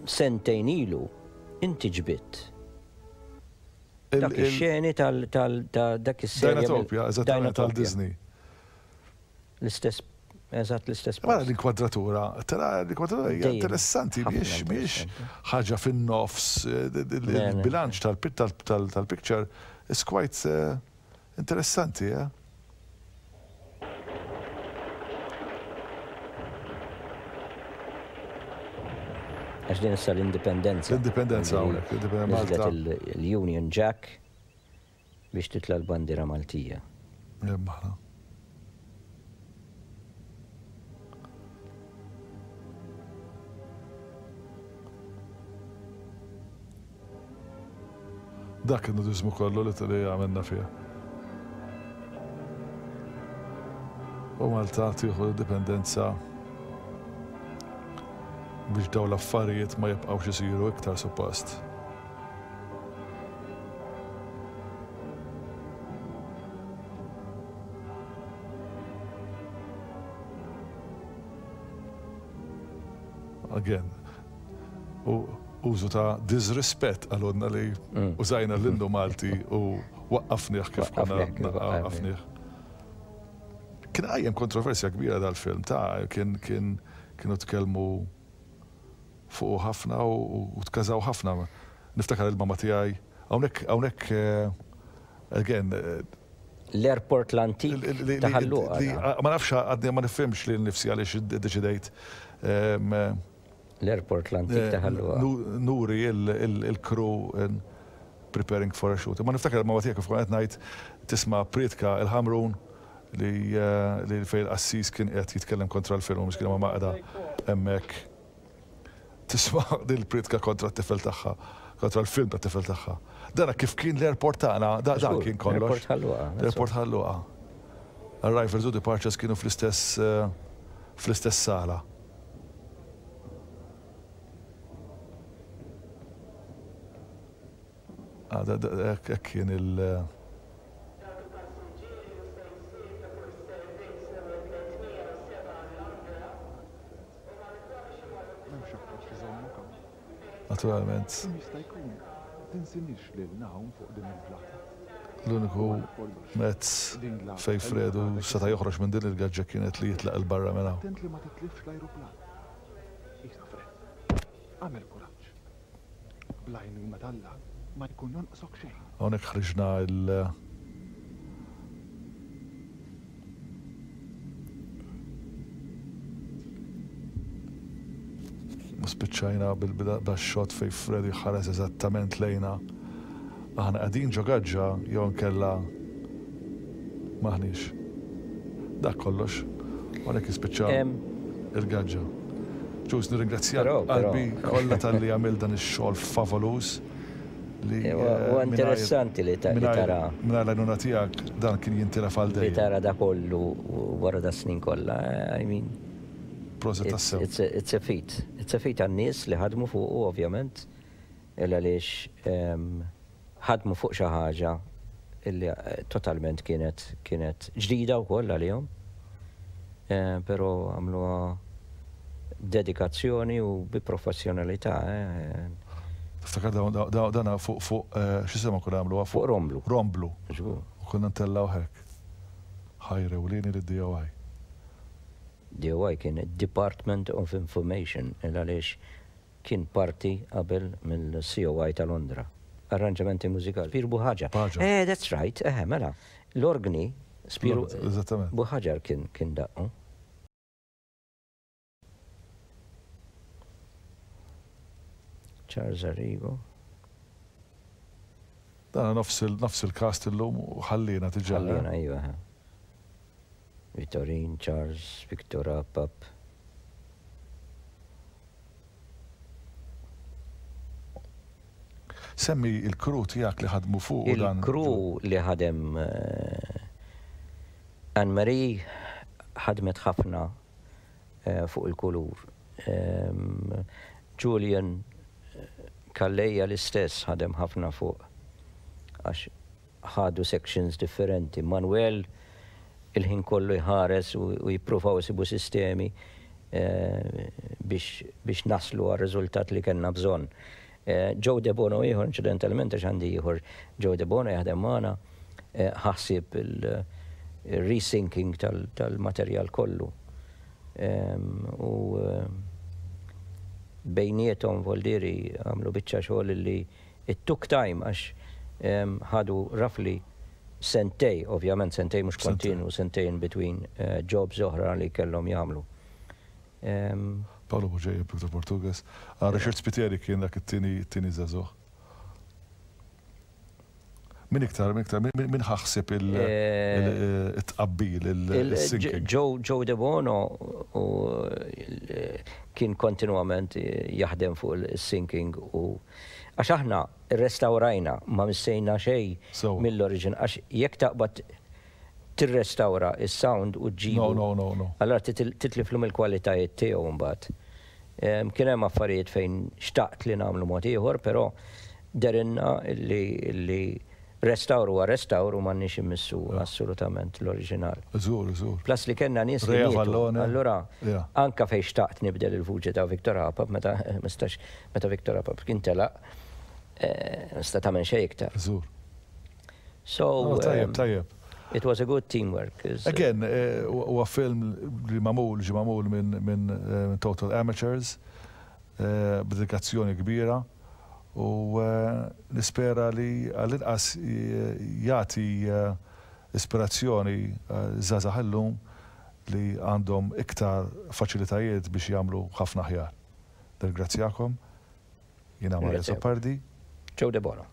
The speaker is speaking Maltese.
Sentejn ilu inti ġbidt dak ix-xeni tal ta' dak is-serje. Dinotopia, eżattament tal-Disney. L-istess, eżatt l-istess. Mela l-inkwadratura, tara l-inkwadratura hija interessanti biex mhix ħaġa fin-nofs, il-bilanċ tal-picture is quite interessanti, eh? Għax din issa l-indipendenza. L-indipendenza hawnhekk, l-indipendenza Malta. L-Union Jack biex titla' l-bandiera Maltija. Hemm aħna. Dak in-nudiżmu kollu li li għamilna fiha. U Malta tieħu l-indipendenza biex dawn l-affarijiet ma jibqgħux isiru iktar suppost. Again, u użu ta' disrispett qalulna li użajna l-innu Malti u waqqafnieh kif konna waqqafnieh. Kien qajjem kontroversja kbira dal-film ta' kien kien kienu tkellmu fuqu ħafna u tkażaw ħafna. Niftakar il-mama tiegħi hawnhekk hawnhekk again L-airport l-antik ta' Ħal Luqa. Ma nafx għadni ma nifhimx lil nifsi għaliex iddeċidejt L-airport l-antik ta' Ħal Luqa. Nuri il-crew preparing for a shoot. Imma niftakar il-mama tiegħi kif kont qed ngħid tisma' prietka il-Ħamrun li fejn il-qassis kien qiegħed jitkellem kontra l-film u miskina mama qiegħda hemmhekk tisma' din il-prietka kontra t-tifel tagħha, kontra l-film tat-tifel tagħha. Dana kif kien l-airport tagħna, dan kien kollox. L-airport Ħal Luqa. L-airport Ħal Luqa. Arrivals u departures kienu fl-istess fl-istess sala. Hekk kien il. Naturalment. L-uniku mezz fejn Fredu seta' joħroġ minn din il-gaġġa kienet li jitlaq 'il barra minn hawn. Hawnhekk ħriġna l. U spiċċajna bil-xot fejn Freddy ħares eżattament lejna. Aħna qegħdin ġo gaġġa jew inkella m'aħniex. Dak kollox. U għalhekk jispiċċa il-gaġġa. Ġuż, nirringrazzjak qalbi kollha talli għamilt dan ix-xogħol favoluż li. Huwa interessanti li tara. Mingħajr l-għajnuna tiegħek dan kien jintilef għal dejjem. Li tara da kollu wara da snin kollha, I mean. Proset tassew. It's a feat. It's a feat għan-nies li ħadmu fuqu ovvjament, il għaliex ħadmu fuq xi ħaġa illi totalment kienet kienet ġdida wkoll għalihom. Però għamluha b'dedikazzjoni u bi professjonalità. Tiftakar dan fuq fuq x'isema konna nagħmluha? Fuq romblu. Romblu. Żgur. U konna ntellgħuh hekk. Ħajr ewlieni lid-DOI. DOI kien Department of Information il għaliex Kien parti qabel mill-COI ta' Londra. Arranġamenti mużikali. Spir Buħaġar. Eh, that's right, eħe, mela. L-orgni, Spir Buħaġar kien kien daqqu. Charles Arrigo. Dan nofs il-cast illum u ħallina diġà. Ħallina, iva. Vittorin, Charles, Victor Apap. Semmi l-crew tiegħek li ħadmu fuqu dan. Il-crew li ħadem Anne Marie ħadmet ħafna fuq il-kulur. Julian Calleja l-istess ħadem ħafna fuq għax ħadu sections differenti. Manuel il-ħin kollu jħares u jippruvaw isibu sistemi. Biex naslu għar-riżultat li kellna bżonn. Joe Debono ieħor, inċidentalment għax għandi ieħor Joe Debono jaħdem magħna, ħa ħsieb il-resyncing tal-materjal kollu. U bejniethom voldieri għamlu biċċa xogħol li it took time għax ħadu roughly sentej, ovvjament sentej mhux kontinu, sentej in between jobs oħra li kellhom jagħmlu. Paolo Bugeja, Victor Portugues. Ah, Richard Spiteri kien dak it-tieni żagħżugħ. Min iktar, min iktar, min ħa ħsieb il-tqabbil, il-syncing? Joe Debono kien kontinwament jaħdem fuq il-syncing u għax aħna rrestawrajna, ma missejna xejn mill-origin għax jekk taqbad tirrestawra s-sound u ġġibu. No, no, no, no. Allura titliflu mill-kwalitajiet tiegħu mbagħad. Kien hemm affarijiet fejn xtaqt li nagħmlu mod ieħor, però dehrilna li restawr huwa restawr u m'għandniex immissu assolutament l-oriġinal. Żgur, żgur. Plus li kellna nies li Rea mietu. Vallone. Allura anka fejn xtaqt nibdel il-vuċi ta' Victor Apap meta mistax meta Victor Apap kien telaq, nista' tagħmel xejn iktar. Żgur. So, Oh, tajjeb, tajjeb. It was a good teamwork. Again, huwa film li magħmul, ġie magħmul minn total amateurs, b'dedikazzjoni kbira u nispera li għall-inqas jagħti ispirazzjoni żgħażagħ illum li għandhom iktar faċilitajiet biex jagħmlu ħafna aħjar. Nirringrazzjakom. Jiena Mario Ringrazzjak. Azzopardi. Joe Debono.